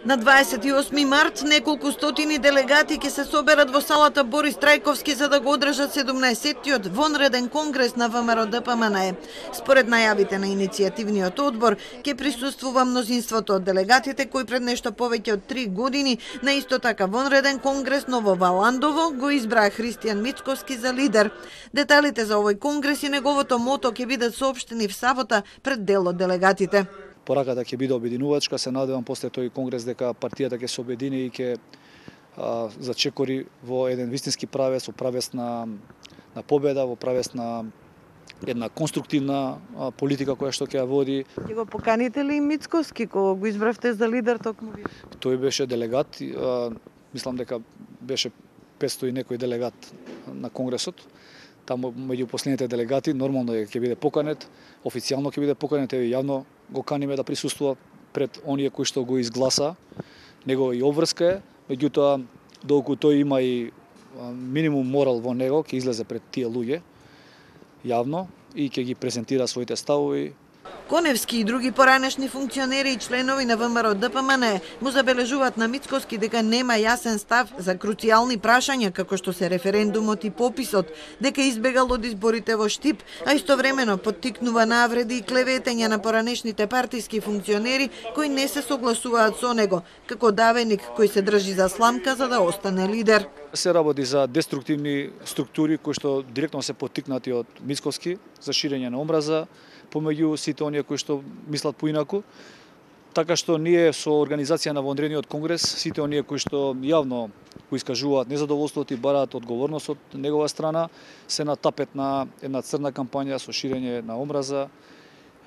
На 28 март неколку стотини делегати ќе се соберат во салата Борис Трајковски за да го одржат 17-тиот вонреден конгрес на ВМРО-ДПМНЕ. Според најавите на иницијативниот одбор ќе присуствува мнозинството од делегатите кои пред нешто повеќе од 3 години на исто така вонреден конгрес но во Валандово го избраа Христијан Мицковски за лидер. Деталите за овој конгрес и неговото мото ќе бидат соопштени в сабота пред дел од делегатите. Пораката ќе биде обединувачка, се надевам после тој конгрес дека партијата ќе се обедини и ќе зачекори во еден вистински правец, во правец на победа, во правец на една конструктивна политика која што ќе ја води. Ќе го поканите ли Мицковски кога го избравте за лидер токму ви? Тој беше делегат, мислам дека беше 500 и некој делегат на конгресот. Таму меѓу последните делегати нормално ќе биде поканет, официјално ќе биде поканет, и јавно го каниме да присуствува пред оние кои што го изгласа. Него и обврска е, меѓутоа доколку тој има и минимум морал во него, ќе излезе пред тие луѓе јавно и ќе ги презентира своите ставови. Коневски и други поранешни функционери и членови на ВМРО-ДПМНЕ му забележуваат на Мицковски дека нема јасен став за круцијални прашања како што се референдумот и пописот, дека избегал од изборите во Штип, а истовремено поттикнува навреди и клеветења на поранешните партиски функционери кои не се согласуваат со него, како давеник кој се држи за сламка за да остане лидер. Се работи за деструктивни структури кои што директно се поттикнати од Мицковски за ширење на омраза помеѓу сите оние кои што мислат поинаку. Така што ние со организација на вонредниот конгрес, сите оние кои што јавно го искажуваат незадоволството и бараат одговорност од негова страна, се на тапет на една црна кампања со ширење на омраза,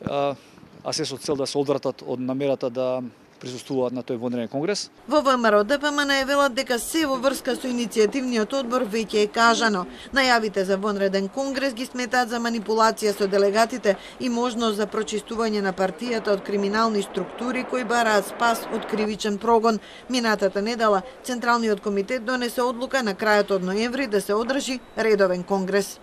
а се со цел да се одвратат од намерата да присуствуваат на тој вонреден конгрес. Во ВМРО-ДПМНЕ велат дека се во врска со иницијативниот одбор веќе е кажано. Најавите за вонреден конгрес ги сметаат за манипулација со делегатите и можност за прочистување на партијата од криминални структури кои бараат спас од кривичен прогон. Минатата недела Централниот комитет донесе одлука на крајот од ноември да се одржи редовен конгрес.